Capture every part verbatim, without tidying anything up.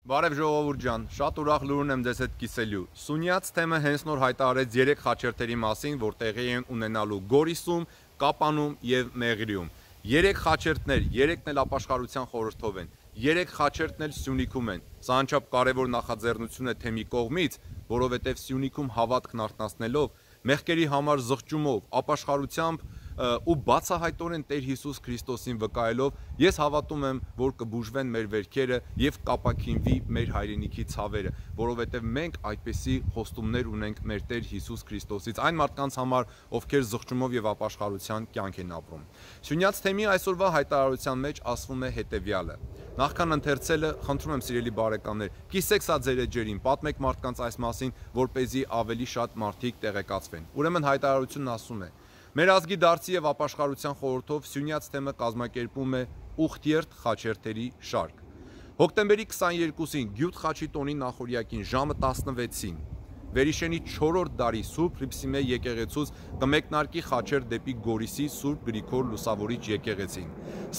Բարև ժողովուրդ ջան, շատ ուրախ լուրն եմ ձեզ հետ կիսելու։ Սունյաց թեմը հենց նոր հայտարարեց երեք խաչերթերի մասին, որ տեղի են ունենալու Գորիսում, Կապանում եւ Մեղրիում։ Երեք խաչերթներ, երեքն էլ ապաշխարության խորհրդով են, երեք խաչերթն էլ Սյունիքում են։ Սա անչափ կարևոր նախաձեռնություն է թեմի կողմից, որովհետեւ Սյունիքում հավատքն արթնացնելով, մեղքերի համար զղջումով, ապաշխարությամբ ու բացահայտորեն Տեր Հիսուս Քրիստոսին վկայելով ես հավատում եմ, որ կբուժվեն մեր վերքերը եւ կապաքինվի մեր հայրենիքի ցավերը, որովհետեւ մենք այդպիսի խոստումներ ունենք մեր Տեր Հիսուս Քրիստոսից այն մարդկանց համար, ովքեր զղջումով եւ ապաշխարության կյանք են ապրում։ Սյունյաց թեմի այսօրվա հայտարարության մեջ ասվում է հետեւյալը. Նախքան ընթերցելը, խնդրում եմ սիրելի բարեկամներ, կիսեք սա ձեր էջերին, պատմեք մարդկանց այս մասին, որպեսզի ավելի շատ մարդիկ տեղեկացվեն։ Ուրեմն հայտարարությունն ասում է. Մեր ազգի դարձի եւ ապաշխարության խորհրդով Սյունյաց թեմը կազմակերպում է ուխտերթ խաչերթերի շարք։ Հոկտեմբերի քսաներկուսին Գյուտ խաչի տոնի նախօրյակին ժամը տասնվեցին Վերիշենի չորրորդ դարի Սուրբ Հռիփսիմե եկեղեցուց կմեկնարկի խաչեր դեպի Գորիսի Սուրբ Գրիգոր Լուսավորիչ եկեղեցին։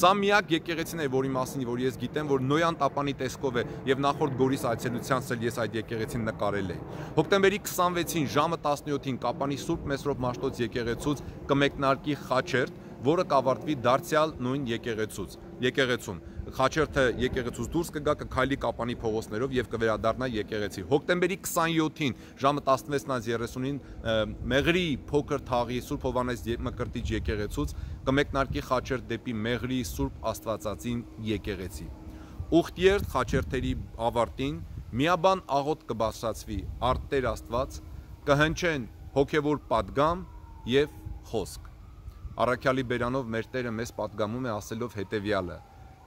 Սա միակ եկեղեցին է, որի մասին որ ես գիտեմ, որ Նոյան Տապանի տեսքով է եւ նախորդ Գորիս այցելությանս էլ ես այդ եկեղեցին նկարել եմ։ Հոկտեմբերի քսանվեցին ժամը տասնյոթին Կապանի Սուրբ Մեսրոպ Մաշտոց եկեղեցուց կմեկնարկի խաչերթ, որը կավարտվի դարձյալ նույն եկեղեցուց։ Եկեղեցում խաչերթը եկեղեցուց դուրս կգա, կքայլի Կապանի փողոցներով եւ կվերադառնա եկեղեցի։ Հոկտեմբերի քսանյոթին ժամը տասնվեցին երեսունին Մեղրի փոքր թաղի Սուրբ Հովանես Մկրտիչ եկեղեցուց կմեկնարկի խաչերթ դեպի Մեղրի Սուրբ Աստվածածին եկեղեցի։ Ուխտերթ խաչերթերի ավարտին միաբան աղոտ կբարձրացվի արդ Տեր Աստված, կհնչեն հոգևոր պատգամ եւ խոսք։ Առաքյալի բերանով մեր Տերը մեզ պատգամում է ասելով հետեւյալը.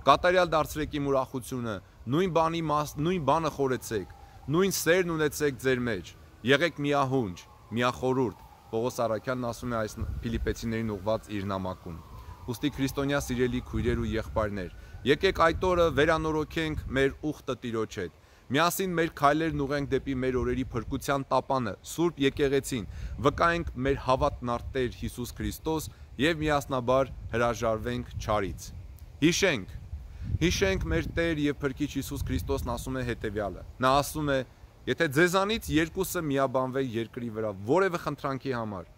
Կատարյալ դարձրեք իմ ուրախությունը, նույն բանի մաս, նույն բանը խորեցեք, նույն սերն ունեցեք ձեր մեջ, եղեք միահունչ, միախորուրդ։ Պողոս առաքյալն ասում է այս Փիլիպեցիներին ուղված իր նամակում։ Ուստի քրիստոնյա սիրելի քույրեր ու եղբայրներ, եկեք այդ օրը վերանորոգենք մեր ուխտը Տիրոջ հետ։ Միասին մեր քայլերն ուղենք դեպի մեր օրերի փրկության տապանը, Սուրբ եկեղեցին, վկայենք մեր հավատն առ Տեր Հիսուս Քրիստոս եւ միասնաբար հրաժարվենք չարից։ Հիշենք, հիշենք մեր Տեր եւ Փրկիչ Հիսուս Քրիստոսն ասում է հետեւյալը։ Նա ասում է. Եթե ձեզանից երկուսը միաբանվեն երկրի վրա որևէ խնդրանքի համար,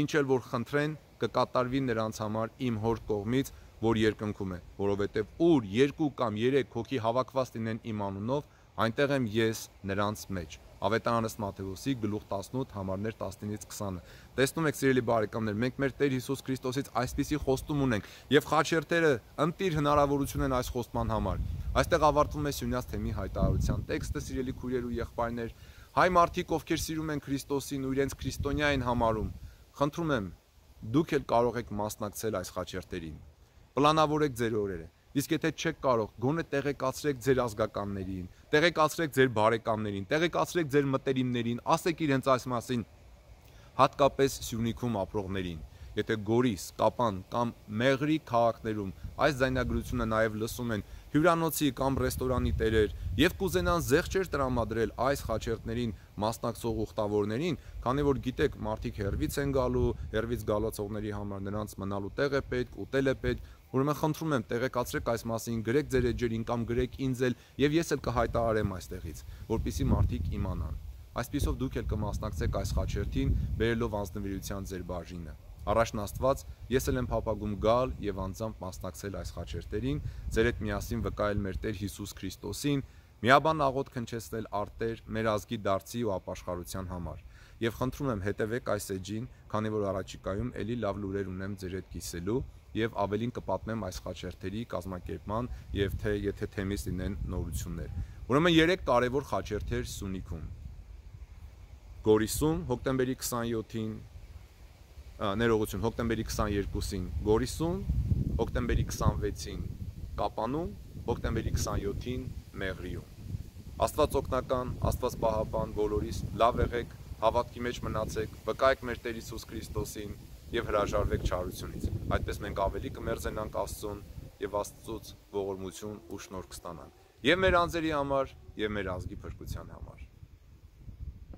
ինչ էլ որ խնդրեն, կկատարվի նրանց համար իմ Հոր կողմից, որ երկնքում է, որովհետեւ ուր երկու կամ երեք հոգի հավաքված լինեն իմ անունով, այնտեղ եմ ես նրանց մեջ։ Ավետարանս Մատթեոսի գլուխ տասնութ համարներ տասնինից քսանը։ Տեսնում եք սիրելի բարեկամներ, մենք մեր Տեր Հիսուս Քրիստոսից այսպիսի խոստում ունենք եւ խաչերթերը ընտիր հնարավորություն են այս խոստման համար։ Այստեղ ավարտվում է Սյունյաց թեմի հայտարարության տեքստը, սիրելի քույրեր ու եղբայրներ, հայ մարդիկ, ովքեր սիրում են Քրիստոսին ու իրենց քրիստոնյա են համարում, խնդրում եմ, դուք էլ կարող եք մասնակցել այս խաչերթերին։ Պլանավորեք ձեր օրերը։ Իսկ եթե չեք կարող, գոնե տեղեկացրեք ձեր ազգականներին, տեղեկացրեք ձեր բարեկամներին, տեղեկացրեք ձեր մտերիմներին, ասեք իրենց այս մասին, հատկապես Սյունիքում ապրողներին։ Եթե Գորիս, Կապան կամ Մեղրի քաղաքներում այս ձայնագրությունը նաև լսում են հյուրանոցի կամ ռեստորանի տերեր եւ կուզենան զեղչեր տրամադրել այս խաչերթներին մասնակցող ուխտավորներին, քանի որ գիտեք, մարդիկ հեռվից են գալու, հեռվից գալացողների համար նրանց մնալու տեղ է պետք, ուտել է պետք, ուրեմն խնդրում եմ տեղեկացրեք այս մասին, գրեք ձեր էջերին կամ գրեք ինձ էլ եւ ես էլ կհայտարարեմ այստեղից, որպեսզի մարդիկ իմանան։ Այսպիսով դուք էլ կմասնակցեք այս խաչերթին, բերելով անձնվիրության ձեր բաժինը։ Առաջն Աստված, ես էլ եմ փափագում գալ եւ անձամբ մասնակցել այս խաչերթերին, ձեր հետ միասին վկայել մեր Տեր Հիսուս Քրիստոսին, միաբան աղոտ քնչեցնել առ Տեր մեր ազգի դարձի ու ապաշխարության համար։ Եվ խնդրում եմ հետևեք այս էջին, քանի որ առաջիկայում ելի լավ լուրեր ունեմ ձեր հետ կիսելու եւ ավելին կպատմեմ այս խաչերթերի կազմակերպման եւ թե եթե թեմից լինեն նորություններ։ Ուրեմն երեք կարևոր խաչերթեր Սյունիքում։ Գորիսում հոկտեմբերի քսանյոթին ներողություն, հոկտեմբերի քսաներկուսին Գորիսում, հոկտեմբերի քսանվեցին Կապանում, հոկտեմբերի քսանյոթին Մեղրիում։ Աստված օգնական, Աստված պահապան բոլորիս, լավ եղեք, հավատքի մեջ մնացեք, վկայեք մեր Տեր Հիսուս Քրիստոսին եւ հրաժարվեք չարությունից։ Այդպես մենք ավելի կմերձենանք Աստծուն եւ Աստծուց ողորմություն ու շնորհք կստանանք։ Եվ մեր անձերի համար, եւ մեր ազգի փրկության համար։